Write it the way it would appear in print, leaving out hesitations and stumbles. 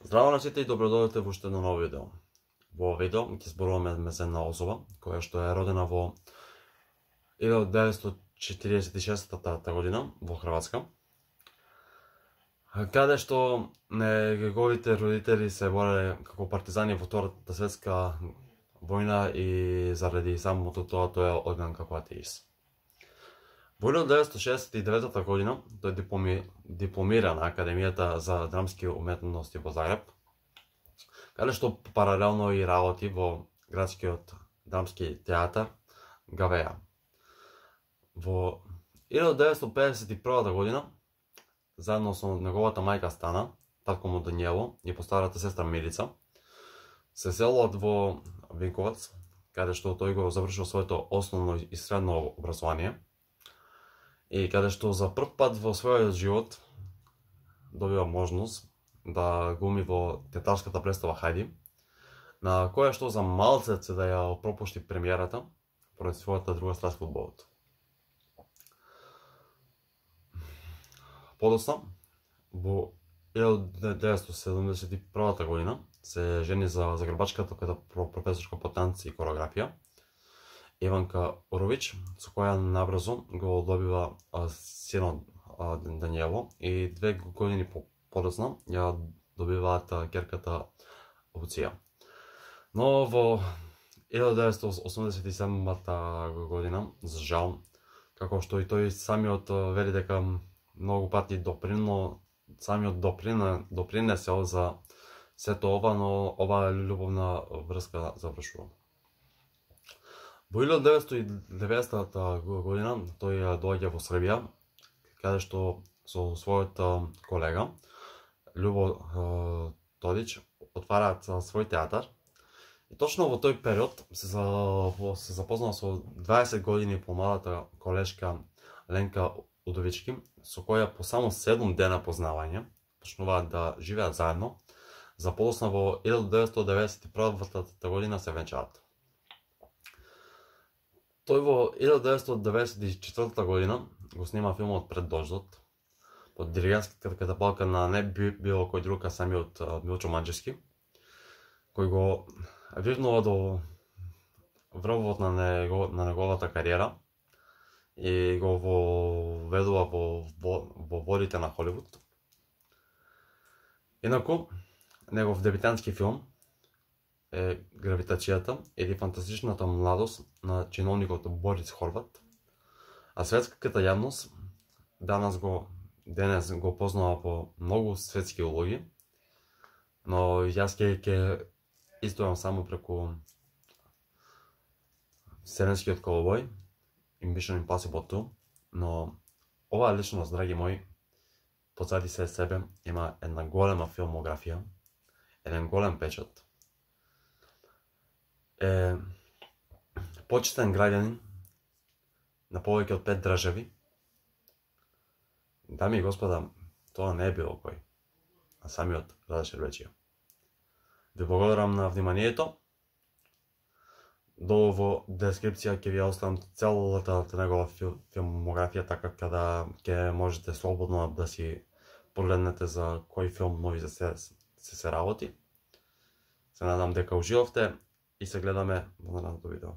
Здраво на сите и добродојдовте во уште едно ново видео. Во видео ќе зборуваме за една особа која што е родена во 1946 година во Хрватска, каде што неговите родители се бореле како партизани во Втората светска војна и заради самото тоа тој е одгнан како атеист. Во 1969 година тој дипломира на Академијата за драмски уметности во Загреб, каде што паралелно и работи во градскиот драмски театар Гавеа. Во 1951 година, заедно со неговата мајка Стана, татко му Даниело и постарата сестра Милица, се селат во Винковац, каде што тој го завршил своето основно и средно образование, и каде што за прв пат во својот живот добива можност да глуми во театарската представа Хајди, на која што за малцет се да ја пропушти премиерата поради својата друга страст фудбалот. Подоцна, во 1971 година се жени за загребачката професорка по танци и хореографија Иванка Орович, со која набрзо го добива синот Даниело и 2 години подоцна ја добиваат ќерката Луција. Но во 1987 година, за жал, како што и тој самиот вели дека многу пати допринесел за сето ова, но оваа љубовна врска завршува. Во 1990 година тој доаѓа во Србија, каде што со својот колега Љубо Тодич отвараат свој театар. И точно во тој период се запознал со 20 години помладата колешка Ленка Удовички, со која по само 7 дена познавање почнуваат да живеат заедно. За подоцна во 1991 година се венчаат. Тој во 1994 година го снима филмот Пред дождот, под диригентската катапалка на не било кој друг, а самиот Милчо Манџевски, кој го вивнува до врвот на неговата кариера и го воведува во водите на Холивуд. Инаку, негов дебитантски филм е Гравитацијата или фантастичната младост на чиновникот Борис Хорват, а светската јавност денес го познава по многу светски улоги, но јас ќе истојам само преку Вселенскиот колобој и Mission Impossible 2, но оваа личност, драги мои, позади себе има една голема филмографија, еден голем печат, е почитен граѓанин на повеќе од 5 држави. Дами и господа, тоа не е било кој, а самиот Раде Шербеджија. Ви благодарам на вниманието. Долу во дескрипција ќе ви оставам целата негова филмографија, така када ќе можете слободно да си погледнете за кој филм нови се работи. Се надам дека уживавте и се гледаме во наредното видео.